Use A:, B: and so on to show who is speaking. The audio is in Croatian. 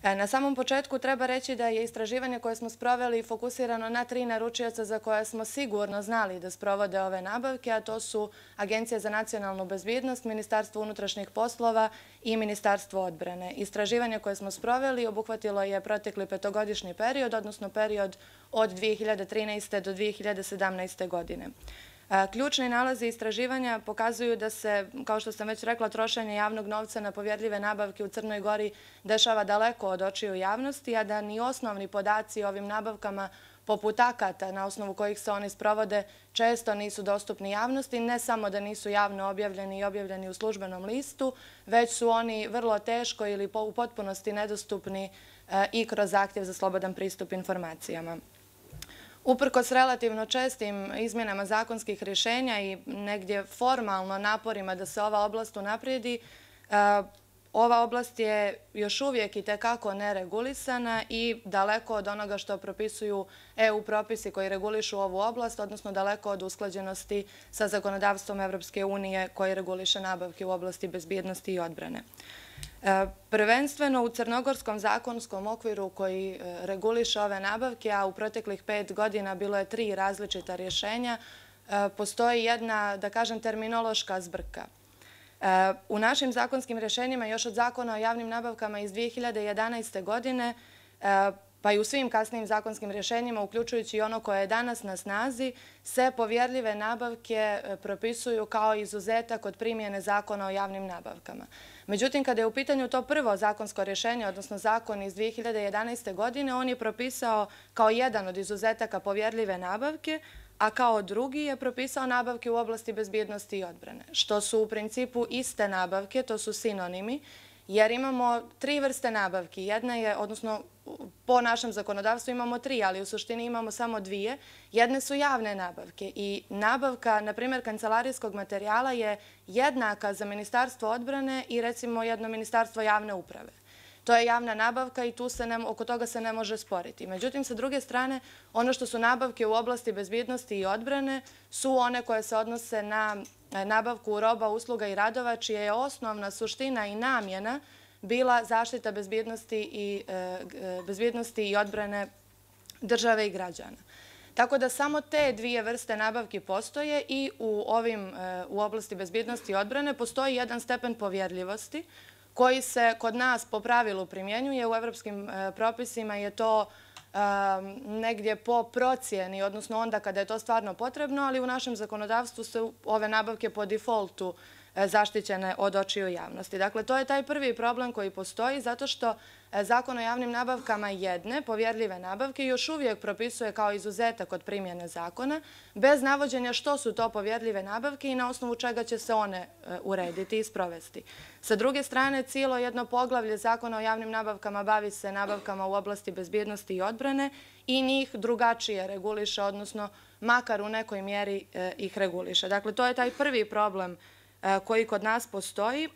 A: Na samom početku treba reći da je istraživanje koje smo sproveli fokusirano na 3 naručioca za koje smo sigurno znali da sprovode ove nabavke, a to su Agencija za nacionalnu bezbjednost, Ministarstvo unutrašnjih poslova i Ministarstvo odbrane. Istraživanje koje smo sproveli obuhvatilo je protekli 5-godišnji period, odnosno period od 2013. do 2017. godine. Ključni nalazi istraživanja pokazuju da se, kao što sam već rekla, trošenje javnog novca na povjerljive nabavke u Crnoj Gori dešava daleko od očiju javnosti, a da ni osnovni podaci o ovim nabavkama, poput akata na osnovu kojih se oni sprovode, često nisu dostupni javnosti. Ne samo da nisu javno objavljeni i objavljeni u službenom listu, već su oni vrlo teško ili u potpunosti nedostupni i kroz zahtjev za slobodan pristup informacijama. Uprkos relativno čestim izmjenama zakonskih rješenja i negdje formalno naporima da se ova oblast unaprijedi, ova oblast je još uvijek itekako neregulisana i daleko od onoga što propisuju EU propisi koji regulišu ovu oblast, odnosno daleko od usklađenosti sa zakonodavstvom Evropske unije koji reguliše nabavke u oblasti bezbjednosti i odbrane. Prvenstveno u crnogorskom zakonskom okviru koji reguliše ove nabavke, a u proteklih 5 godina bilo je 3 različita rješenja, postoji jedna, da kažem, terminološka zbrka. U našim zakonskim rješenjima, još od Zakona o javnim nabavkama iz 2011. godine, pa i u svim kasnijim zakonskim rješenjima, uključujući i ono koje je danas na snazi, se povjerljive nabavke propisuju kao izuzetak od primjene Zakona o javnim nabavkama. Međutim, kada je u pitanju to prvo zakonsko rješenje, odnosno zakon iz 2011. godine, on je propisao kao jedan od izuzetaka povjerljive nabavke, a kao drugi je propisao nabavke u oblasti bezbjednosti i odbrane, što su u principu iste nabavke, to su sinonimi, jer imamo 3 vrste nabavki. Jedna je, odnosno po našem zakonodavstvu imamo 3, ali u suštini imamo samo 2. Jedne su javne nabavke i nabavka, na primjer, kancelarijskog materijala je jednaka za Ministarstvo odbrane i recimo jedno Ministarstvo javne uprave. To je javna nabavka i oko toga se ne može sporiti. Međutim, sa druge strane, ono što su nabavke u oblasti bezbjednosti i odbrane su one koje se odnose na nabavku roba, usluga i radova, čija je osnovna suština i namjena bila zaštita bezbjednosti i odbrane države i građana. Tako da samo te 2 vrste nabavki postoje i u oblasti bezbjednosti i odbrane postoji jedan stepen povjerljivosti koji se kod nas po pravilu primjenjuje. U evropskim propisima je to negdje po procjeni, odnosno onda kada je to stvarno potrebno, ali u našem zakonodavstvu su ove nabavke po defaultu zaštićene od očiju javnosti. Dakle, to je taj prvi problem koji postoji zato što Zakon o javnim nabavkama jedne povjerljive nabavke još uvijek propisuje kao izuzetak od primjene zakona, bez navođenja što su to povjerljive nabavke i na osnovu čega će se one urediti i sprovesti. Sa druge strane, cijelo jedno poglavlje Zakona o javnim nabavkama bavi se nabavkama u oblasti bezbjednosti i odbrane i njih drugačije reguliše, odnosno makar u nekoj mjeri ih reguliše. Dakle, to je taj prvi problem koji kod nas postoji.